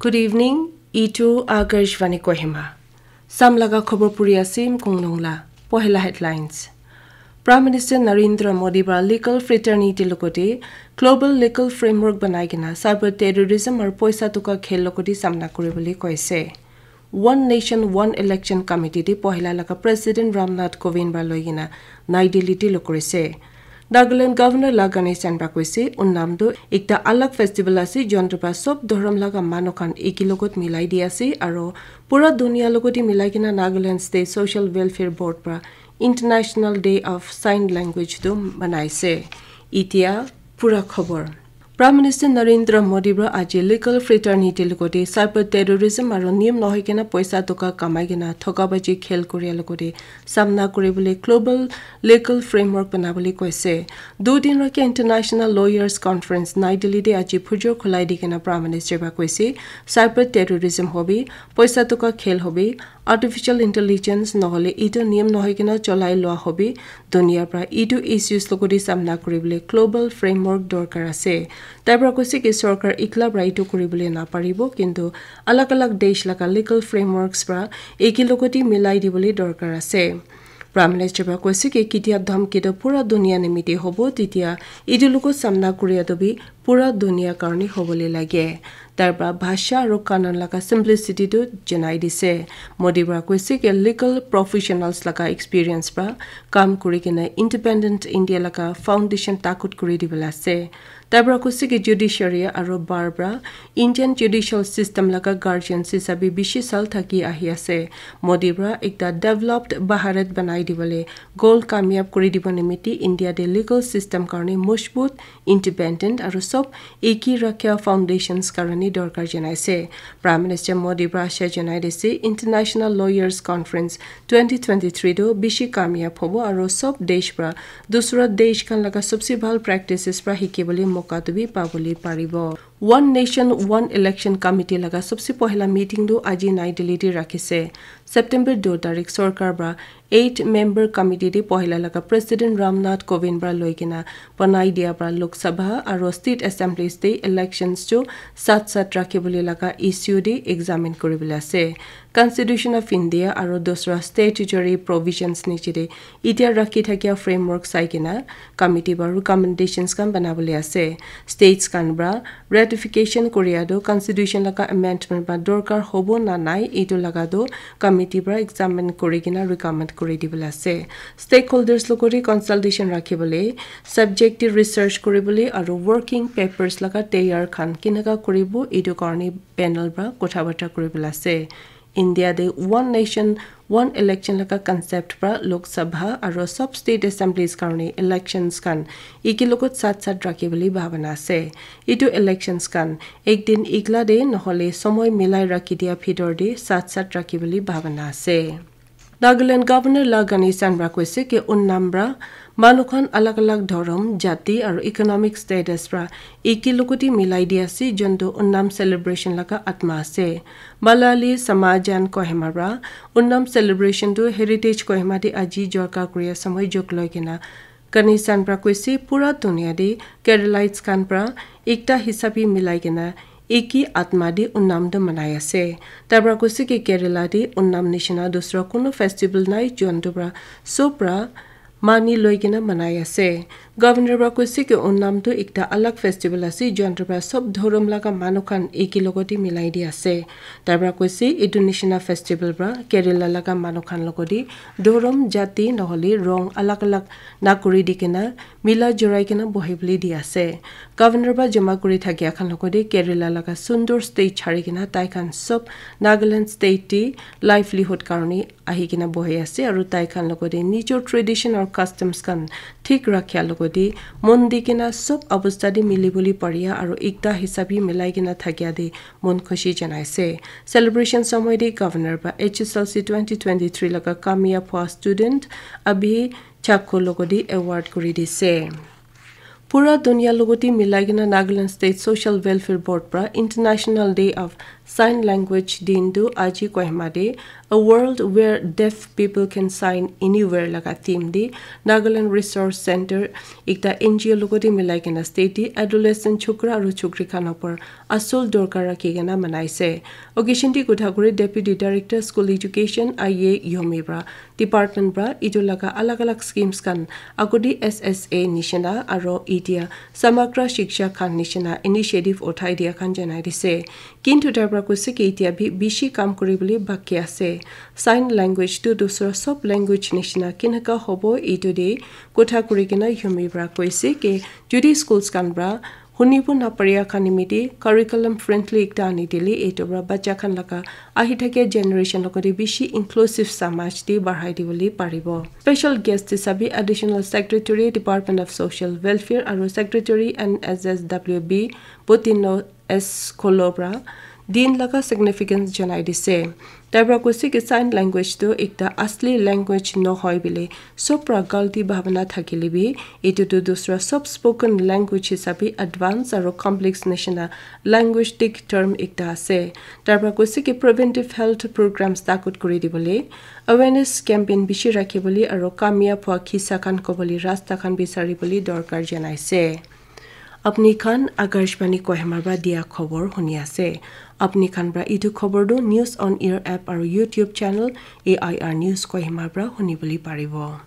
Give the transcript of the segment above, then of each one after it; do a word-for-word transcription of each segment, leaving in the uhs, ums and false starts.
Good evening, itu Akashvani Kohima. Sam laga khobor puri asim kungnung la. Pohela headlines. Prime Minister Narendra Modi pra legal fraternity logoti global legal framework banai kena cyber terrorism aru poisa tuka khel logoti samna kuri bole koise. One Nation, One Election Committee te pohila laga President Ramnath Kovind pra loi kena Nai Delhi te lo korise. Nagaland Governor la Ganesan pra koise, Onam tu ekta alag festival ase, jontu pra sob dhorom laga manu khan eki logot milai di ase, aro pura dunia logot hi milai kena Nagaland State Social Welfare Board pra International Day of Sign Language tu manaise. Itia pura khobor. Prime Minister Narendra Modi pra aji legal fraternity logote cyber terrorism aro niyam nohoi kena poisa toka kamai kena thokabaji khel koria logote samna kuri bole global legal framework bana bole koise. Dui din rakhi International Lawyers Conference Nai Delhi te aji phujor khulai di kena Prime Minister pra koise, cyber terrorism hobi, poisa toka khel hobi, artificial intelligence nohole itu niyam nohoi kena cholai lua hobi, dunia pra itu issues logote samna kuri bole global framework dorkar ase. Tai pra koise ki sorkar ekla pra itu kuri bole naparibo, kintu alag alag desh laga legal frameworks pra eki logote milai di bole dorkar ase. Prime Minister pra koise ki ketia dhamki to pura dunia nimite hobo, titia itu logot samna kuria to bi pura dunia karne hobole lage. Tar pra bhasha aro kanun laga simplicity tu janai dise. Modi pra koise ki legal professionals laga experience pra kam kuri kena independent India laga foundation takut kuri dibole ase. Tai pra koise ki judiciary aro bar pra Indian judicial system laga guardians hisabe bishi sal thaki ahi ase. Modi pra ekta developed Bharat banai dibole goal kamyab kuri dibo nimite India te legal system karne mojbut, independent aro sob eki rakha foundations karne dorkar janaise. Prime Minister Modi pra asha janai dise International Lawyers Conference twenty twenty-three tu bishi kamyab hobo aro sob desh pra dusra desh khan laga sobse bhal practices pra hiki bole moka tu bi pa bole paribo. One Nation, One Election Committee laga sobse pohila meeting tu aji Nai Delhi te rakhise. September dui tarik sorkar pra eight member committee te pohila laga President Ramnath Kovind pra loi kena banai dia pra Lok Sabha aro State Assemblies te elections tu sat sat rakhi bole laga issue te examine kuri bole ase. Constitution of India aro dusra statutory provisions niche te itia rakhi thakia framework sai kena committee pra recommendations khan bana bole ase. States khan pra ratification kuria tu constitution laga amendment pra dorkar hobo na nai, itu laga tu committee pra examine kuri kena recommend kuri dibole ase. Stakeholders logote consultation rakhi bole, subject te research kuri bole aro working papers laga tayar khan kinaka kuribo, itu karne panel pra kotha barta kuri bole ase. India te One Nation, One Election laga concept pra Lok Sabha aro sob state assemblies karne elections khan eki logot sat sat rakhi bole bhabana ase. Itu elections khan ek din ekla te nohole somoi milai rakhi dia bhitor te sat sat rakhi bole bhabana ase. Nagaland Governor la Ganesan pra koise ki Onam pra manu khan alag alag dhorom, jati aro economic status pra eki logote milai di ase, jontu Onam celebration laga atma ase. Malayali Samajan Kohima pra Onam celebration tu Heritage Kohima te aji jorka kuria samoi jok loi kena Ganesan pra koise pura dunia te Keralites khan pra ekta hisabe milai kena eki atma te Onam tu manai ase. Tai pra koise ki Kerala te Onam nishina dusra kunu festival nai, jontu pra sob pra mani loi kena manai ase. Governor pra koise ki Onam tu ekta alag festival ase, jontu pra sob dhorom laga manu khan eki logote milai di ase. Tai pra koise itu nishina festival pra Kerala laga manu khan logote dhorom, jati nohole rong alag alag na kuri di kena mila jurai kena bohi bole di ase. Governor pra jama kuri thakia khan logote Kerala laga sundur state chari kena tai khan sob Nagaland state te livelihood karne ahi kena bohi ase, aro tai khan logote nijor tradition aro customs khan thik rakhia logote mon di kena sob abostha te mili bole paria aro ekta hisabe milai kena thakia te mon khushi janaise. Celebration samoi te Governor pra H S L C twenty twenty-three laga kamyab hua student Abhi Chakko logote award kuri dise. Pura dunia logote milai kena Nagaland State Social Welfare Board pra International Day of Sign Language Din tu aji Kohima te A World Where Deaf People Can Sign Anywhere laga theme te Nagaland Resource Center ekta N G O logote milai kena state te adolescent chokra aru chokri khan opor asul dorkar rakhi kena manaise. Occasion te kotha kuri Deputy Director School Education I A Yomi pra department pra etu laga alag alag schemes khan agodi S S A nishina aro itia Samagra Shiksha khan nishina initiative uthai dia khan janai dise. Kintu tai pra koise ki itia bi bishi kam kuribole baki ase. Sign language tu dusra sob language nishina kinaka hobo etu de kotha kuri kena Yomi pra koise ki jodi schools khan pra hunibo naparia khan nimite curriculum friendly ekta ani dile etu pra bacha khan laga ahi thakia generation logote bishi inclusive samaj te bahai dibole paribo. Special guest hisabe Additional Secretary, Department of Social Welfare aru Secretary N S S W B Botino S Kolobra din laga significance janai dise. Tai pra koise ki sign language tu ekta asli language nohoi bile sob pra galti bhabna thakile bi etu tu dusra sob spoken language hisabe advance aru complex nishina linguistic term ekta ase. Tai pra koise ki preventive health programs takut kuri dibole awareness campaign bishi rakhibole aru kamyab hua kisa khan kobole rasta khan bisaribole dorkar janaise. Apni khan Akashvani Kohima pra dia khobor huni ase. Apni khan pra itu khobor tu News on Air app aru YouTube channel A I R News Kohima pra huni bole paribo.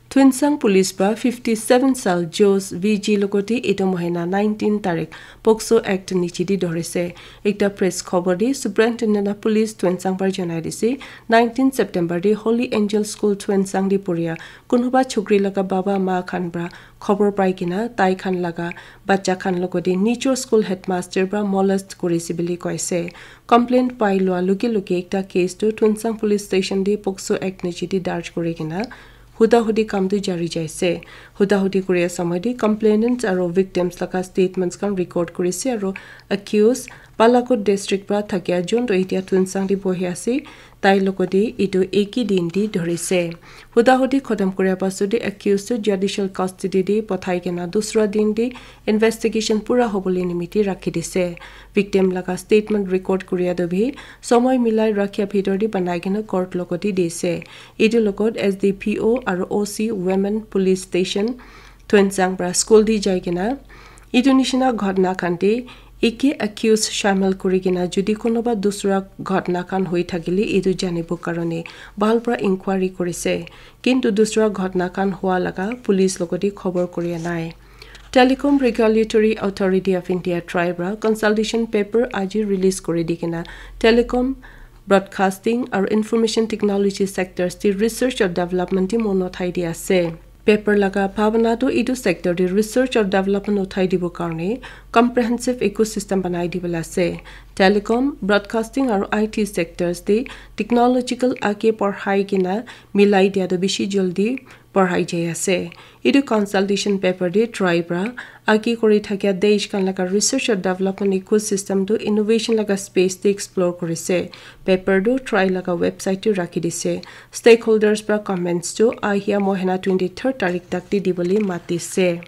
Tuensang Police pra fifty seven sal Jos V G logote itu mohina nineteen tarik POCSO Act niche di dhorise. Ekta press khobor di Superintendent of Police Tuensang pra janai dise, nineteen September di Holy Angel School Tuensang di puria kunuba chukri laga baba ma khan pra khobor pai kena tai khan laga bacha khan logote nijor school headmaster pra molest kurise bili koise. Complaint pai lua luge luge ekta case tu Tuensang Police Station te POCSO Act niche te darj kuri kena huda hudi kam tu jari jaise. Huda hudi kuri asa moi te complainants aru victims laga statements khan record kurise aru accused Balakot district pra thakia jun tu etia Tuensang te bohi ase. Tai logote itu eki din di dhorise. Huda hudi khotom kuria pasode accused tu judicial custody di pothai kena dusra din di investigation pura hobole nimiti rakhi dise. Victim laga statement record kuria tu bi somoi milai rakhia bhitor di banai kena court logote dise. Itu logot S D P O aru O C Women Police Station Tuensang pra school di jai kena itu nishina ghotna khan te eki accused shamil kuri kena jodi kunuba dusra ghotna khan hoi thakile itu janibo karone bhal pra inquiry kurise. Kintu dusra ghotna khan hua laga police logote khobor kuria nai. Telecom Regulatory Authority of India, TRAI pra consultation paper aji release kuri di kena telecom, broadcasting aru information technology sectors te research aru development te mon uthai di ase. Paper laga bhabana tu itu sector te research aru development uthai dibo karone comprehensive ecosystem banai dibole ase. Telecom, broadcasting aru I T sectors te technological age padhai kena milai dia tu bishi jaldi padhai jai ase. Itu consultation paper te TRAI pra age kuri thakia desh khan laga research aru development ecosystem tu innovation laga space te explore kurise. Paper tu TRAI laga website te rakhi dise. Stakeholders pra comments tu ahia mohina twenty third tarik tak te dibole matise.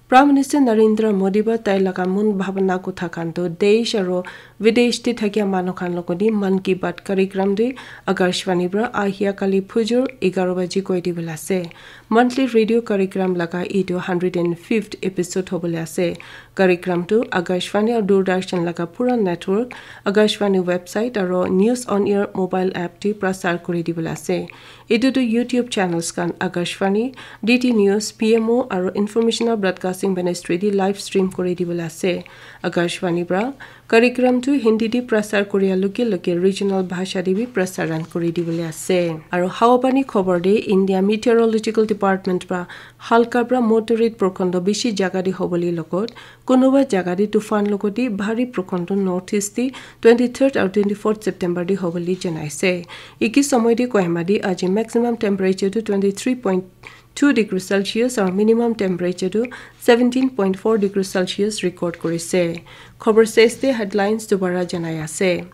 Prime Minister Narendra Modi pra tai laga mon bhabana kotha khan tu desh aru videsh te thakia manu khan logote Mann Ki Baat karikram te Akashvani pra ahia kali phujur egharo baji koi dibole ase. Monthly radio karikram laga itu hundred and fifth episode hobole ase. Karikram tu Akashvani aru Doordarshan laga pura network, Akashvani website aru News on Air mobile app te prasar kuri dibole ase. Itu tu YouTube channels khan Akashvani, D D News, P M O aru Information and Broadcasting Ministry te live stream kuri dibole ase. Akashvani pra karikram tu Hindi te prasar kuria luge luge regional bhasha te bi prasaran kuri dibole ase. Aru hawapani khobor te India Meteorological Department pra halka pra moderate porkhondo bishi jaga te hobole logot kunuba jaga te tufan logote bhari porkhondo North East te twenty third aru twenty fourth September te hobole janaise. Eki somoi te Kohima te aji maximum temperature tu twenty three point two degree Celsius aru minimum temperature tu seventeen point four degree Celsius record kurise. Khobor ses te headlines dobara janai ase.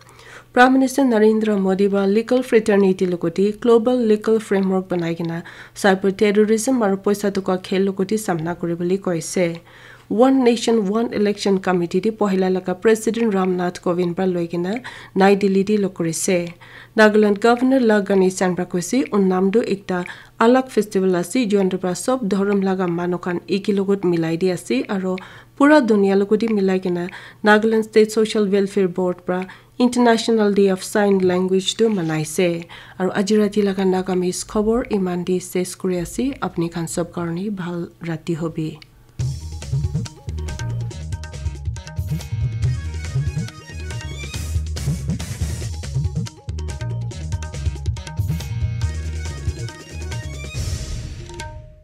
Prime Minister Narendra Modi pra legal fraternity logote global legal framework banai kena cyber terrorism aru poisa toka khel logote samna kuribole koise. One Nation One Election Committee te pohila laga President Ram Nath Kovind para loi kena Nai Delhi te log kurise. Nagaland Governor La Ganesan para koise, Onam tu ekta alag festival ase, jointu para sob dhorom laga manu khan eki logot milai di ase, aro pura dunia logot te milai kena Nagaland State Social Welfare Board para International Day of Sign Language tu manaise. Aro aji rati laga Nagamese khobor iman te ses kuri ase. Apni khan sob karone bhal rati hobi.